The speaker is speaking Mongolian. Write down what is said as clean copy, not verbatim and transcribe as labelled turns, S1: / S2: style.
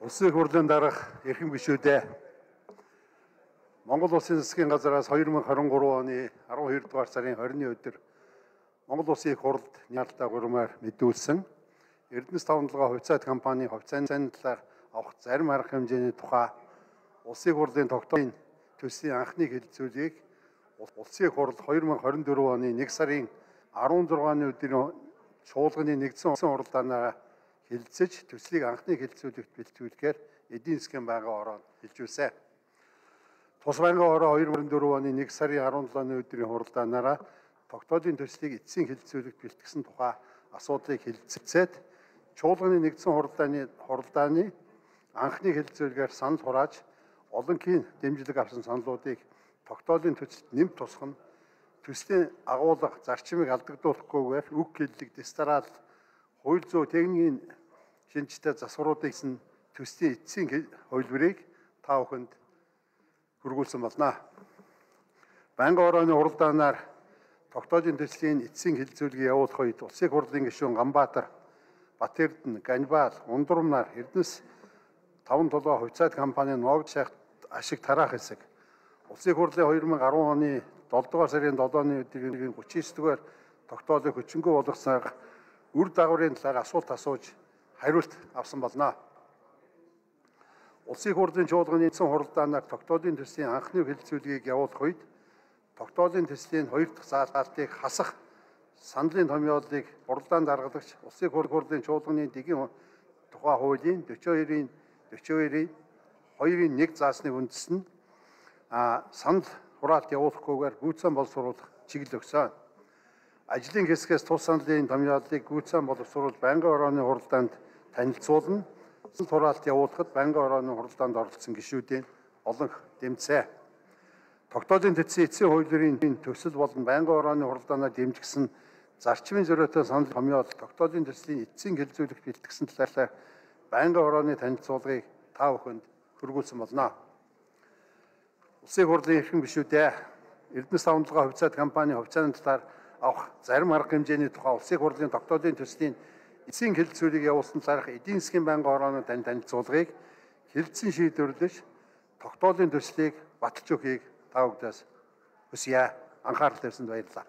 S1: Улсын хурлын дараах эрхэм гишүүдээ Монгол Улсын засгийн газараас 2023 оны 12 дугаар сарын 20-ны өдөр Монгол Улсын их хурлд няалтаа гурмаар мэдүүлсэн Эрдэнэс тавталгаа хувьцаат компани хувьцааны талаар авах зарим арга хэмжээний тухай Улсын хурлын тогтоомын төслийн анхны хэлэлцүүлгийг Улсын их хурл 2024 оны 1 сарын 16-ны өдрийн чуулганы нэгдсэн хуралдаанаар хэлэлцэж төслийг анхны хэлэлцүүлэгт бэлтгүүлэхээр эдийн засгийн байнгын ороонд хэлжүүлсэн. Тус байнгын ороо 2024 оны 1 сарын 17-ны өдрийн хуралдаанаараа тогтоодын төслийг эцсийн хэлэлцүүлэгт бэлтгэсэн тухай асуудлыг хэлэлцээд чуулганы нэгдсэн хуралдааны анхны хэлэлцүүлгээр санал хурааж олонхийн дэмжлэг авсан саналуудыг тогтоодын төсөлд нэмж тусах нь төслийн агуулга зарчмыг алдагдуулахгүйгээр үг хэллэг дистарал хууль зүйн техникийн шинжтэй засваруудыг төслийн эцсийн хувилбарыг та бүхэнд хүргүүлсэн болно. Байнгын орооны хуралдаанаар тогтоодын төслийн эцсийн хэлэлцүүлгийг явуулах үед Улсын хурлын гишүүн Ганбаатар, Батэрдэн, Ганбаал, Ундурмнаар Эрдэнэс таван толгой хувьцаат компани Ногд шахт ашиг тараах хэсэг Улсын хурлын 2010 оны 7 дугаар сарын 7-ны өдрийн 39 дугаар тогтоолыг хүчингүй болгосноор үр дагаврын талаар асуулт асууж хариулт авсан болно. Улсын хурлын чуулганы нэгдсэн хуралдаанаар тогтоодын төслийн анхны хэлэлцүүлгийг явуулах үед тогтоодын төслийн 2 дахь заалтыг хасах саналын томьёолыг хуралдаанд даргалагч Улсын хурлын чуулганы дэгийн тухай хуулийн 42-ийн 2-ийн 1 заасныг үндэслэн санал хураалт явуулахгүйгээр гүйцэн боловсруулах чиглэл өгсөн. Ажлын хэсгээс тус саналын томьёолыг гүйцэн боловсруулж байнгын орооны хуралдаанд танилцуулна. Санал хураалт явуулахад байнгын орооны хуралдаанд оролцсон гишүүдийн олонх дэмжсэн. Тогтоодын төслийн эцсийн хувилбарын төсөл болон байнгын орооны хуралдаанаар дэмжигдсэн зарчмын зориотой санал томьёол тогтоодын төслийн эцсийн хэлэлцүүлэгт бэлтгэсэн талаар байнгын орооны танилцуулгыг та бүхэнд хүргүүлсэн болно. Улсын хурлын эрхэм гишүүдээ Эрдэнэс тавталгаа хувьцаат компани хувьцааны талаар авах зарим арга хэмжээний тухай Улсын хурлын тогтоодын төслийн эцсийн хэлэлцүүлгийг явуулсан талаарх эдийн засгийн байнгын орооны танилцуулгыг хэлэлцэн шийдвэрлэж тогтоодын төслийг баталж өгөхийг та бүдээс хүсье. Анхаарал тавьсанд баярлалаа.